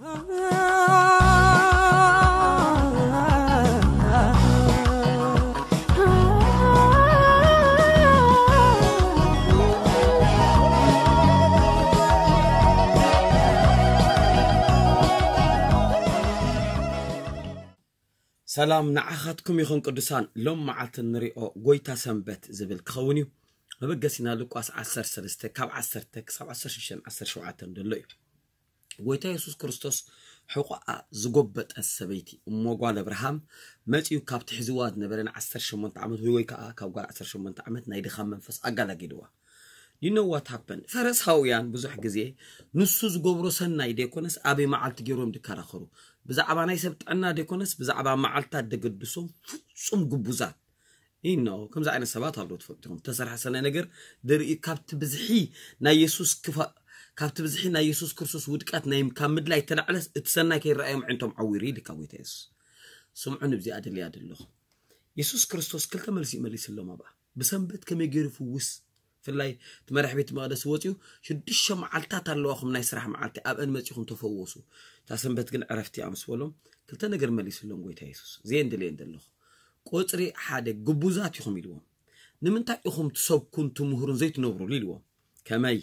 ሰላም ንዓኻትኩም ይኹን ቅዱሳን። ሎም መዓልቲ ንሪኦ ጎይታ ሰንበት ዝብል ክኸውን እዩ። መበገሲና ሉቃስ ዓሰርተ ሰለስተ ካብ ዓሰርተ ክሳብ ዓሰርተ ሽዱሽተ ዓሰርተ ሸውዓተ ዘሎ እዩ። ጎይታ የሱስ ክርስቶስ ሕቆኣ ዝጎበጠት ሰበይቲ እሞ ጓል ኣብርሃም መጺኡ ካብ ትሕዝዋ ዝነበረ ን ዓሰርተ ሸሞንተ ዓመት ወይ ወይ ከኣ ካብ ጓል ዓሰርተ ሸሞንተ ዓመት ናይ ድኻም መንፈስ ኣጋላጊልዋ። You know what happened? ፈረሳውያን ብዙሕ ግዜ ንሱ ዝገብሮ ሰናይ ደይኮነስ ኣበይ መዓልቲ ገይሮም ድከራኸሩ ብዛዕባ ናይ ሰብ ጥዕና ደይኮነስ ብዛዕባ መዓልታት ደገድሶም ፍጹም ግቡዛት ኢኖ ከምዚ ዓይነት ሰባት ኣለዉ። ትፈልጡ ኢኹም። ተሰርሐ ሰናይ ነገር ድርኢ ካብቲ ብዝሒ ናይ የሱስ ክፋ ካብቲ ብዝሒ ናይ የሱስ ክርስቶስ ውድቀት ናይ ካብ ምድላይ ተላዕለስ እቲ ሰናይ ከይረኣዮም ዕንቶም ዓዊሩ ኢልካ ጎይታ የሱስ። ስምዑ ንብዚኣ ደልያ ደለኹ። የሱስ ክርስቶስ ክልተ መልሲ ይመሊስሎም ኣብኣ። ብሰንበት ከመይ ገይሩ ፍውስ ፍላይ እቲ መራሕ ቤት መቕደስ ወፂኡ ሽዱሽተ መዓልታት ኣለዋኹም ናይ ስራሕ መዓልቲ ኣብአን መፂኹም ተፈወሱ እታ ሰንበት ግን ዕረፍቲ እያ ምስ በሎም ክልተ ነገር መሊስሎም ጎይታ የሱስ እዚአን ደልየን ዘለኹ ቁፅሪ ሓደ ግቡዛት ኢኹም ኢልዎም ንምንታይ ኢኹም ትሰብኩን ትምህሩን ዘይትነብሩሉ ኢልዎም ከመይ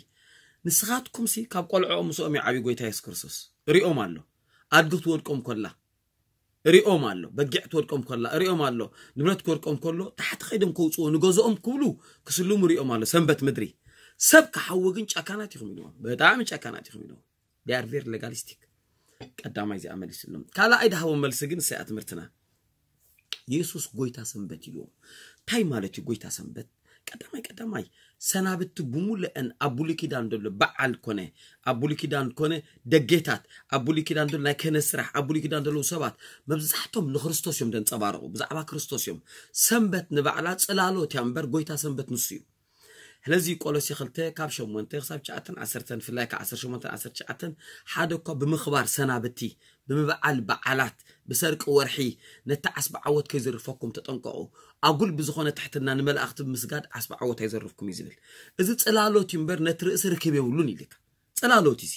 ንስኻትኩምሲ ካብ ቆልዕኦም ምስኦም ይዓብዩ ጎይታ የሱስ ክርስቶስ ሪኦም ኣሎ ኣድጊ ክትወድቆም ኮላ ሪኦም ኣሎ በጊዕ ትወድቆም ኮላ ሪኦም ኣሎ ንብረት ክወድቆም ከሎ ታሕቲ ከይዶም ከውፅዎ ንገዝኦም ክብሉ ክስልሙ ሪኦም ኣሎ ሰንበት ምድሪ ሰብ ክሓዊ ግን ጨካናት ኢኹም ኢልዎም ብጣዕሚ ጨካናት ኢኹም ኢልዎም they are very legalistic ቀዳማይ እዚኣ መሊስሎም ካልኣይ ድሃቦም መልሲ ግን እሰያ ትምህርትና የሱስ ጎይታ ሰንበት ኢልዎም እንታይ ማለት እዩ ጎይታ ሰንበት ቀዳማይ ቀዳማይ ሰናብቲ ብሙሉአን ኣብ ብሉይ ኪዳን ዘሎ በዓል ኮነ ኣብ ብሉይ ኪዳን ኮነ ደጌታት ኣብ ብሉይ ኪዳን ዘሎ ናይ ክህነት ስራሕ ኣብ ብሉይ ኪዳን ዘለዉ ሰባት መብዛሕቶም ንክርስቶስ እዮም ዘንፀባርቑ ብዛዕባ ክርስቶስ እዮም ሰንበት ንባዕላ ፅላሎት እያ እምበር ጎይታ ሰንበት ንሱ እዩ ስለዚ ቆሎሴ ክልተ ካብ ሸሞንተ ክሳብ ትሽዓተን ዓሰርተን ብፍላይ ካብ ዓሰርተ ሸሞንተ ዓሰርተ ትሽዓተ ሓደ እኳ ብምኽባር ሰናብቲ ብምብዓል በዓላት ብሰርቂ ወርሒ ነቲ ዓስቢ ዓወት ከይዝርፈኩም ተጠንቀቑ ኣጉል ብዝኾነ ትሕትና ንመላእኽቲ ብምስጋድ ዓስቢ ዓወት ኣይዘርፍኩም እዩ ዝብል እዚ ጽላሎት እዩ እምበር ነቲ ርእሲ ርክብ የብሉን ኢልካ ጽላሎት እዩ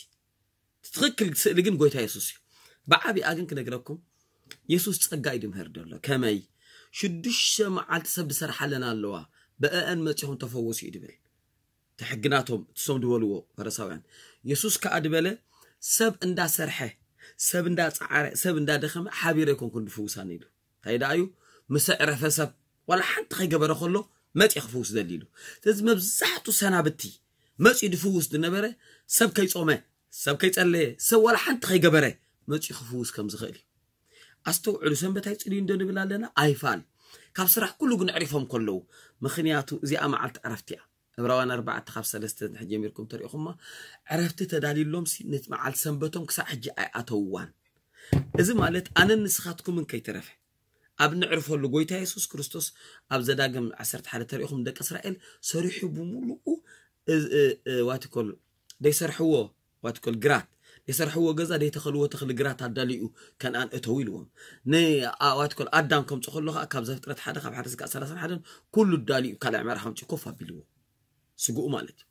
ትኽክል ስእሊ ግን ጎይታ የሱስ እዩ ብዓቢኣ ግን ክነግረኩም የሱስ ጸጋ እዩ ድምህር ደሎ ከመይ ሽዱሽተ መዓልቲ ሰብ ዝሰርሓለን ኣለዋ ብአአን መጺኹም ተፈወሱ እዩ ድብል እቲ ሕጊ ናቶም እትሶም ዝበልዎ ፈረሳውያን የሱስ ከኣ ድበለ ሰብ እንዳሰርሐ ሰብ እንዳጻዓረ ሰብ እንዳደኸመ ሓቢረ ኣይኮንኩን ድፍውሳን ኢሉ እንታይ ደኣ እዩ ምስ ዕረፈ ሰብ ዋላ ሓንቲ ከይገበረ ከሎ መጽ ክፍውስ ደሊ ኢሉ ስለዚ መብዛሕቱ ሰናብቲ መጽ ድፍውስ ዝነበረ ሰብ ከይጾመ ሰብ ከይጸለየ ሰብ ዋላ ሓንቲ ከይገበረ መጽ ክፍውስ ከም ዝኽእል እዩ ኣስተውዕሉ ሰንበት ኣይጽልዩ እንዶ ንብል ኣለና ኣይፋል ካብ ስራሕ ኩሉ ግን ዕሪፎም ከለዉ ምኽንያቱ እዚኣ መዓልቲ ዕረፍቲ እያ ዕብራውያን ኣርባዕተ ካብ ሰለስተ እንድሕር ጀሚርኩም ተሪእኹማ ዕረፍቲ ተዳልዩሎምሲ ነቲ መዓልቲ ሰንበቶም ክሳዕ ሕጂ ኣይኣተውዋን። እዚ ማለት ኣነን ንስኻትኩምን ከይተረፈ ኣብ ንዕርፈሉ ጎይታ የሱስ ክርስቶስ ኣብ ዘዳግም ዓሰርተ ሓደ ተሪእኹም ንደቂ እስራኤል ሰሪሑ ብምሉኡ ዋትኮል ደይሰርሕዎ ዋትኮል ግራት ደይሰርሕዎ ገዛ ደይተኸልዎ ተኽሊ ግራት ኣዳልዩ ከነኣን እተው ኢልዎም ንዋትኮል ኣዳም ከምፁ ከሎ ከዓ ካብ ዘፍጥረት ሓደ ካብ ሓደ ስጋዕ ሰላሳን ሓደን ኩሉ ዳልዩ ካልዕ ምዕራፍ ኣምፂ ኮፍ ኣቢልዎ ስግኡ ማለት እዩ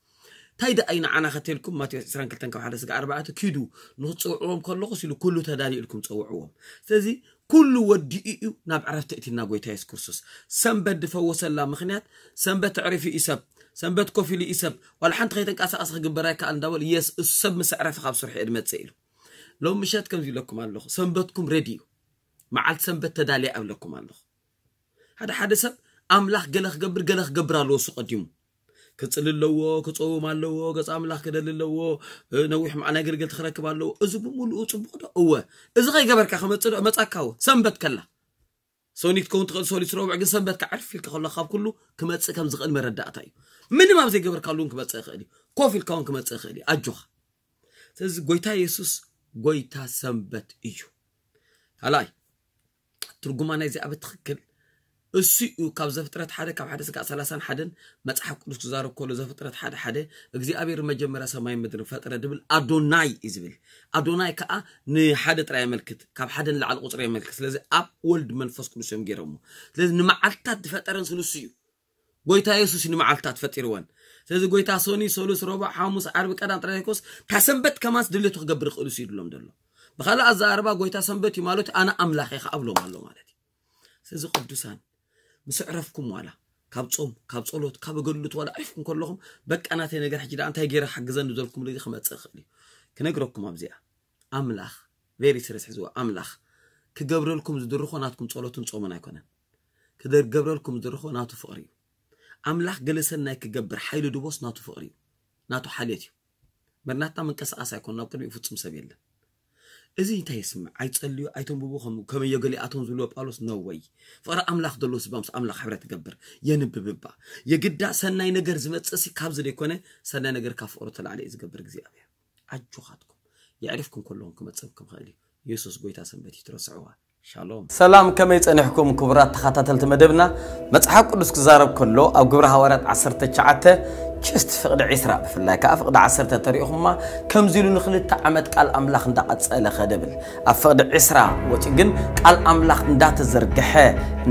እንታይ ደኣ እዩ ንዓና ከተልኩም ማቴዎስ ዕስራን ክልተን ካብ ሓደ ስጋ ኣርባዕተ ኪዱ ንክትፀውዕዎም ከለኹስ ኢሉ ኩሉ ተዳልዩ ኢልኩም ፀውዕዎም ስለዚ ኩሉ ወዲኡ እዩ ናብ ዕረፍቲ እቲና ጎይታ የሱስ ክርስቶስ ሰንበት ድፈወሰላ ምክንያት ሰንበት ኣዕሪፉ እዩ ሰብ ሰንበት ኮፍ ኢሉ እዩ ሰብ ዋላ ሓንቲ ከይተንቀሳቀሰ ክግበር ኣይከኣል እንዳበሉ የስ እሱ ሰብ ምስ ኣዕረፈ ካብ ስርሑ እየ ድመፅእ ኢሉ ሎም ምሸት ከምዚ ኢለኩም ኣለኹ ሰንበትኩም ሬዲ እዩ መዓልቲ ሰንበት ተዳልያ እብለኩም ኣለኹ ሓደ ሓደ ሰብ ኣምላኽ ገለ ክገብር ገለ ክገብር ኣለዎ እሱ ቀዲሙ ክጽሊ ኣለዎ ክጸውም ኣለዎ ገጽ ኣምላኽ ክደሊ ኣለዎ ነዊሕ መዓል ኣገልገልቲ ክረክብ ኣለዎ እዚ ብምሉኡ ጽቡቕ ዶ እወ እዚ ከይገበርካ ክመጽእ ዶ መጻካ እወ ሰንበት ከላ ሶኒት ከውን ትኽእል ሶኒት ረቡዕ ግን ሰንበት ከዓርፍ ኢልካ ከሎ ካብ ኩሉ ክመጽእ ከም ዝኽእል መረዳእታ እዩ ምንም ኣብ ዘይገበርካሉ እውን ክመጽእ ይኽእል እዩ ኮፍ ኢልካ እውን ክመጽእ ይኽእል እዩ ኣጆኻ ስለዚ ጎይታ የሱስ ጎይታ ሰንበት እዩ ካልኣይ ትርጉማ ናይዚኣ ብትኽክል እሱ እዩ ካብ ዘፍጥረት ሓደ ካብ ሓደ ስጋዕ ሰላሳን ሓደን መፅሓፍ ቅዱስ ክዛረብ ከሎ ዘፍጥረት ሓደ ሓደ እግዚኣብሔር መጀመርያ ሰማይ ምድሪ ፈጠረ ድብል ኣዶናይ እዩ ዝብል ኣዶናይ ከዓ ንሓደ ጥራይ የመልክት ካብ ሓደ ንላዕሊ ቁፅሪ የመልክት ስለዚ ኣብ ወልድ መንፈስ ቅዱስ እዮም ገይሮሞ ስለዚ ንመዓልትታት ዝፈጠረን ስሉሱ እዩ ጎይታ የሱስ ንመዓልታት ፈጢርወን ስለዚ ጎይታ ሶኒ ሰሉስ ረቡዕ ሓሙስ ዓርቢ ቀዳም ጥራይ ዘይኮስ እታ ሰንበት ከማንስ ድሌቱ ክገብር ይኽእሉ ሲ ይብሎም ዘሎ ብኻልእ ኣዘራርባ ጎይታ ሰንበት እዩ ማለት ኣነ ኣምላኽ እየ ከኣብሎም ኣሎ ማለት እዩ። ስለዚ ቅዱሳን ምስ ዕረፍኩም ዋላ ካብ ጾም ካብ ጸሎት ካብ ኣገልግሎት ዋላ ዕሪፍኩም ከለኹም በቃ ናተይ ነገር ሕጂ ደኣ እንታይ ገይረ ሓግዘኒ ዘልኩም ልዚ ክመጽእ ይኽእል እዩ። ክነግረኩም ኣብዚኣ ኣምላኽ very serious ሕዝዋ ኣምላኽ ክገብረልኩም ዝድርኾ ናትኩም ጸሎትን ጾምን ኣይኮነን። ክገብረልኩም ዝድርኾ ናቱ ፍቕሪ እዩ። ኣምላኽ ገለ ሰናይ ክገብር ሓይሊ ድቦስ ናቱ ፍቕሪ እዩ። ናቱ ሓልዮት እዩ። መርናትና መንቀሳቐስ ኣይኮን ናብ ቅድሚኡ ፍጹም ሰብ የለን። እዚ እንታይ የስምዕ? ኣይጸልዩ ኣይተንብቡ ከም ከመዮ ገሊኣቶም ዝብልዎ ጳውሎስ ነወይ ፍቕሪ ኣምላኽ ደሎ ስባ ምስ ኣምላኽ ሕብረት ትገብር የንብብባ የግዳ ሰናይ ነገር ዝመጽእሲ ካብዚ ዘይኮነ ሰናይ ነገር ካብ ፍቕሩ ተላዕሊ እዩ ዝገብር እግዚኣብሔር። ኣጆኻትኩም የዕሪፍኩም ከለኹም ክመጸኩም ክኽእል እዩ። የሱስ ጎይታ ሰንበት እዩ ትረስዕዋ። ሻሎም። ሰላም፣ ከመይ ጸኒሕኩም ክቡራት ተኸታተልቲ መደብና? መጽሓፍ ቅዱስ ክዛረብ ከሎ ኣብ ግብረ ሃዋርያት ዓሰርተ ትሽዓተ ችስት ፍቕዲ ዒስራ ብፍላይ ከኣ ፍቕዲ ዓሰርተ ተሪእኹማ ከምዚ ኢሉ ንክልተ ዓመት ቃል ኣምላኽ እንዳቐጸለ ኸደ ብል ኣብ ፍቕዲ ዒስራ ወጺኡ ግን ቃል ኣምላኽ እንዳተዘርግሐ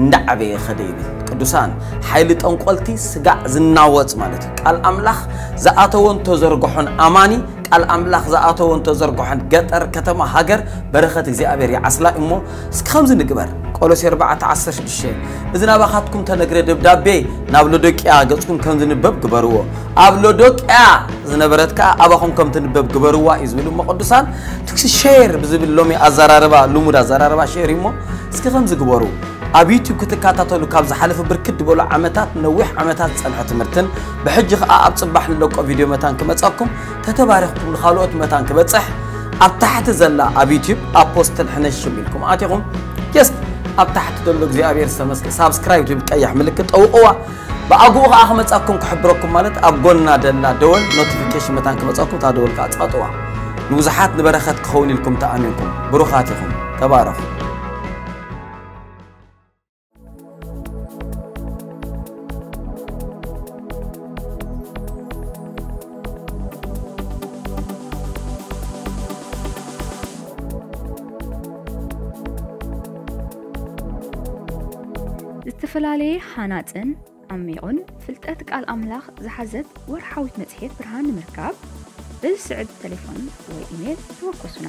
እንዳዓበየ ኸደ ይብል። ቅዱሳን ሓይሊ ጠንቆልቲ ስጋዕ ዝናወጽ ማለት እዩ። ቃል ኣምላኽ ዝኣተወን ተዘርግሖን ኣማኒ ቃል ኣምላኽ ዝኣተወን ተዘርግሖን ገጠር ከተማ ሃገር በረኸት እግዚኣብሔር ይዓስላ እሞ እስኪ ከምዚ ንግበር። ቆሎሴ ኣርባዕተ ዓሰርተ ሽዱሽተ እዚ ናባኻትኩም ተነግረ ደብዳቤ ናብ ሎዶቅያ ገጽኩም ከም ዝንበብ ግበርዎ። ኣብ ሎዶቅያ ዝነበረት ከኣ ኣባኹም ከም ትንበብ ግበርዋ እዩ ዝብል እሞ ቅዱሳን ትክሲ ሼር ብዝብል ሎሚ ኣዘራርባ ልሙድ ኣዘራርባ ሼር እሞ እስኪ ከምዚ ግበሩ። ኣብ ዩቲዩብ ክትከታተሉ ካብ ዝሓለፈ ብርክት ዝበሉ ዓመታት ነዊሕ ዓመታት ዝጸንሐ ትምህርትን ብሕጂ ከኣ ኣብ ጽባሕ ንለቆ ቪድዮ መታን ክመጸኩም ተተባሪኽኩም ንኻልኦት መታን ክበጽሕ ኣብ ታሕቲ ዘላ ኣብ ዩቲዩብ ኣፖስትል ሕነሽም ኢልኩም ኣቲኹም ጀስት ኣብ ታሕቲ ዘሎ እግዚኣብሔር ዝተመስገ ሳብስክራይብ ዝብል ቀያሕ ምልክት ጠውቕዋ። ብኣግኡ ከኣ ክመጻኩም ክሕብረኩም ማለት ኣብ ጎና ደላ ደወል ኖቲፊኬሽን መታን ክመጻኩም እታ ደወል ከኣ ጻጥዋ። ንብዙሓት ንበረኸት ክኸውን ኢልኩም ተኣሚንኩም ብሩኻት ኢኹም። ተባረኹ። ዝተፈላለየ ሃናጽን ዓሚቑን ፍልጠት ቃል ኣምላኽ ዝሓዘት ወርሓዊት መጽሔት ብርሃን ንምርካብ በዚ ስዕብ ተሌፎን ወይ ኢሜል ተወከሱና።